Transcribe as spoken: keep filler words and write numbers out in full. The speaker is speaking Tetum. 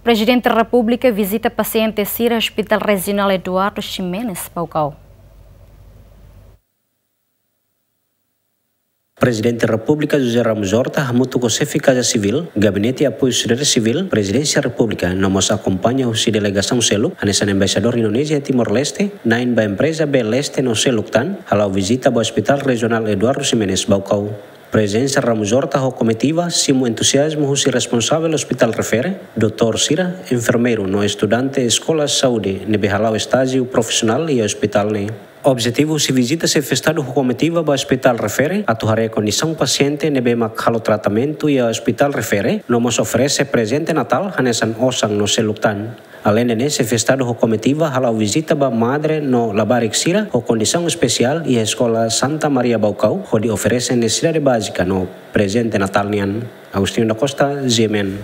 Prezidente Repúblika vizita pasiente sira Hospital Rejionál Eduardo Ximenes, Baucau. Prezidente Repúblika José Ramos Horta hamutuk ho Xefe Kaza Sivíl, Gabinete Apoiu Sosiedade Sivíl, Prezidénsia Repúblika, no mós akompaña husi delegasaun seluk, hanesan Embaixadór Indonézia iha Timor-Leste, na'in ba empreza B L S T no seluk tan, hala'o vizita ba Hospital Rejionál Eduardo Ximenes, Baucau. Prezensa Ramos Horta ho komitiva simu entuziazmu husi responsavel ospitál refere, doutór sira, enfermeiru no estudante eskola saúde ne'ebé hala'o estájiu profisionál iha ospitál ne'e. Objetivu husi vizita Xefe Estadu ho komitiva ba ospitál refere atu haree kondisaun pasiente ne'ebé mak halo tratamentu iha ospitál refere, no mós oferese prezente Natál hanesan osan no seluk tan. Aleinde ne'e, Xefe Estadu ho komitiva hala'o vizita ba madre no labarik sira ho kondisaun espesiál iha Eskola Santa Maria Baucau, hodi oferese nesesidade bázika no prezente Natál nian. Agostinho da Costa, G M N.